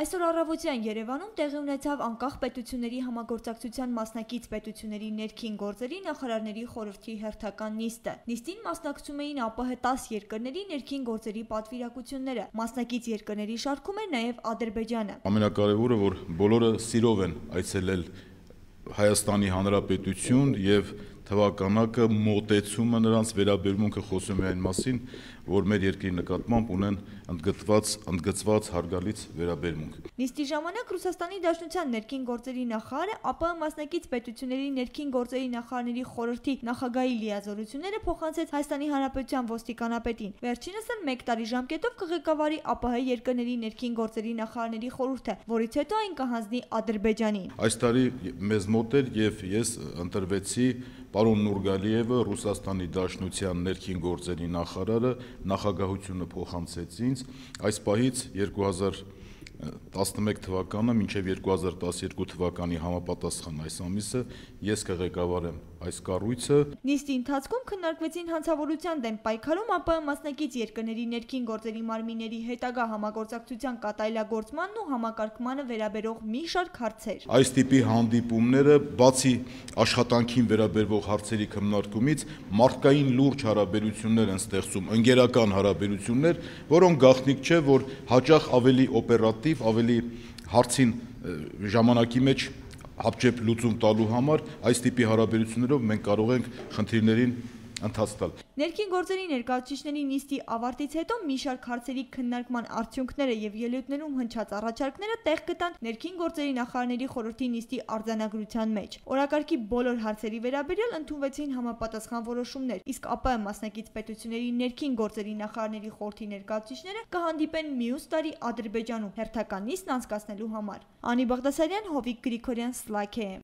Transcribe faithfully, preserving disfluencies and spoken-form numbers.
Այսօր առավոտյան Երևանում տեղի ունեցավ անկախ պետությունների համագործակցության մասնակից պետությունների ներքին գործերի նախարարների խորհրդի հերթական նիստը։ Նիստին մասնակցում էին ԱՊՀ տասը երկրների ներքին գործերի պատվիրակությունները։ Մասնակից երկրների շարքում էր նաև Ադրբեջանը։ Ամենակարևորը, որ բոլորը սիրով են այցելել Հայաստանի Հանրապետություն եւ թվականակը մոտեցումը նրանց վերաբերմունքը խոսում է այն մասին, որ մեր երկրի նկատմամբ ունեն ընդգծված ընդգծված հարգալից վերաբերմունք։ Նիստի ժամանակ Ռուսաստանի Դաշնության ներքին գործերի նախարարը ԱՊՀ մասնակից պետությունների ներքին գործերի նախարարների խորհրդի նախագահի լիազորությունները փոխանցեց Հայաստանի Հանրապետության ոստիկանապետին։ Վերջինս էլ մեկ տարի ժամկետով կղեկավարի ԱՊՀ երկրների ներքին գործերի նախարարների խորհուրդը, որից հետո այն կհանձնի Ադրբեջանին։ Այս տարի մեզ մոտ էր եւ ես ընտրվեցի պարոն Նուրգալիևը, Ռուսաստանի Դաշնության ներքին գործերի նախարարը, նախագահությունը փոխանցեց ինձ։ Այս պահից երկու հազար տասնմեկ թվականը մինչև երկու հազար տասներկու թվականի համապատասխան այս ամիսը ես կղեկավարեմ այս կառույցը։ Նիստի ընթացքում քննարկվեցին հանցավորության դեմ պայքարում ԱՊՀ մասնակից երկրների ներքին գործերի մարմինների հետագա համագործակցության կատարելագործմանն ու համակարգմանը վերաբերող մի շարք հարցեր։ Այս տիպի հանդիպումները բացի աշխատանքին վերաբերող հարցերի քննարկումից մարդկային լուրջ հարաբերություններ են ստեղծում, ընկերական հարաբերություններ, որոնք գաղտնիք չէ, որ հաճախ ավելի օպերատիվ, ավելի հարցին ժամանակի մեջ հապճեպ լուծում տալու համար այս տիպի հարաբերություններով մենք կարող ենք խնդիրներին ընթաց տալ։ Ներքին գործերի ներկայացուցիչների նիստի ավարտից հետո մի շարք հարցերի քննարկման արդյունքները եւ ելույթներում հնչած առաջարկները տեղ գտան ներքին գործերի նախարարների խորհրդի նիստի արձանագրության մեջ։ Օրակարգի բոլոր հարցերի վերաբերյալ ընդունվեցին համապատասխան որոշումներ, իսկ ԱՊՀ մասնակից պետությունների ներքին գործերի նախարարների խորհրդի ներկայացուցիչները կհանդիպեն մյուս տարի Ադրբեջանում հերթական նիստն անցկացնելու համար։ Անի Բաղդասարյան, Հովիկ Գրիգորյան, Սլաք է։